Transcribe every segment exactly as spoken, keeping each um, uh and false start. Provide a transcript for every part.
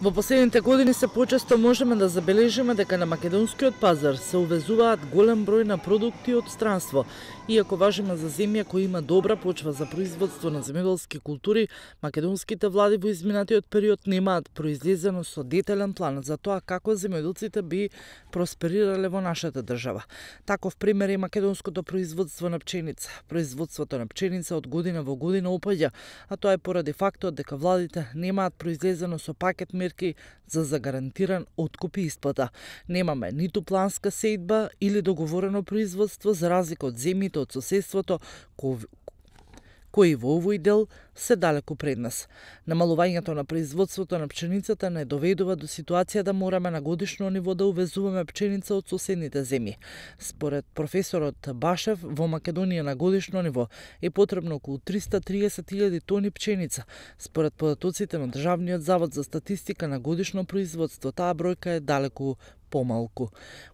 Во последните години се почесто можеме да забележиме дека на македонскиот пазар се увезуваат голем број на продукти од странство. Иако важиме за земја која има добра почва за производство на земјоделски култури, македонските влади во изминатиот период немаат произлезено со детален план за тоа како земјоделците би просперирале во нашата држава. Таков пример е македонското производство на пченица. Производството на пченица од година во година опаѓа, а тоа е поради фактот дека владите немаат произлезено со пакет мерки за загарантиран откуп и исплата. Немаме ниту планска сејдба или договорено производство за разлика од земјите од соседството кои во овој дел се далеку пред нас. Намалувањето на производството на пченицата не доведува до ситуација да мораме на годишно ниво да увезуваме пченица од соседните земји. Според професорот Башев, во Македонија на годишно ниво е потребно околу триста и триесет илјади тони пченица. Според податоците на Државниот завод за статистика на годишно производство, таа бројка е далеку помалку.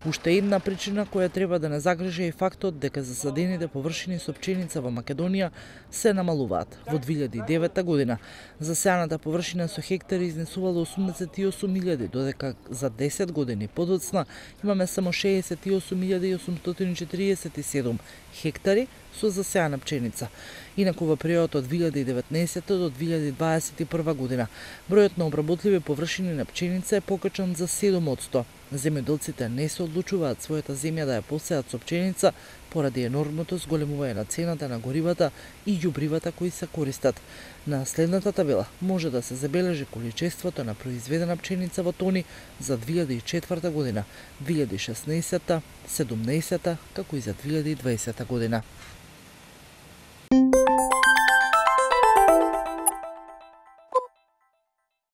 Уште една причина која треба да не загрижи е фактот дека засадените површини со пченица во Македонија се намалуваат. Во две илјади и девета година засеаната површина со хектари изнесувала осумдесет и осум илјади, додека за десет години подоцна имаме само шеесет и осум илјади и осумстотини и четириесет и седум хектари со засеана пченица. Инаку во периодот од две илјади и деветнаесета до две илјади дваесет и прва година бројот на обработливи површини на пченица е покачен за седум одсто. Земјоделците не се одлучуваат својата земја да ја посеат со пченица поради енормното зголемување на цената на горивата и ѓубривата кои се користат. На следната табела може да се забележи количеството на произведена пченица во тони за две илјади и четврта година, две илјади и шеснаесета, седумнаесета, како и за две илјади и дваесета година.